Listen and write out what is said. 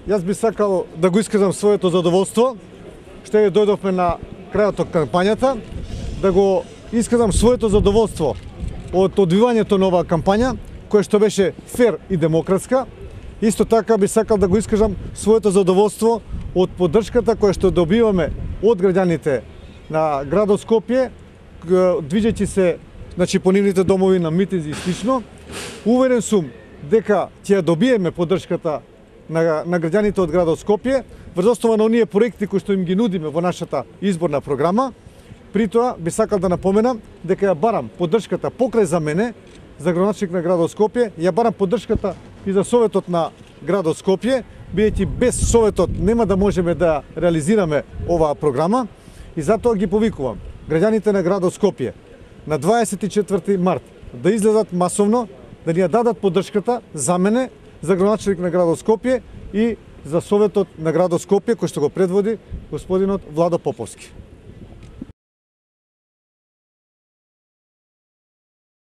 Јас би сакал да го искажам своето задоволство, што ја дојдовме на крајот од кампањата, да го искажам своето задоволство од одвивањето на оваа кампања, која што беше фер и демократска. Исто така би сакал да го искажам своето задоволство од поддршката која што добиваме од граѓаните на градот Скопје, движејќи се по нивните домови на митинзи и слично. Уверен сум дека ќе ја добиеме поддршката на граѓаните од градот Скопје врз основа на оние проекти кои што им ги нудиме во нашата изборна програма. При тоа би сакал да напоменам дека ја барам поддршката покрај за мене, за градоначелник на градот Скопје, ја барам поддршката и за Советот на градот Скопје, бидејќи без Советот нема да можеме да реализираме оваа програма, и затоа ги повикувам граѓаните на градот Скопје на 24 март да излезат масовно, да ни ја дадат поддршката за мене, за градоначелник на градот Скопје и за Советот на градот Скопје, кој што го предводи господинот Владо Поповски.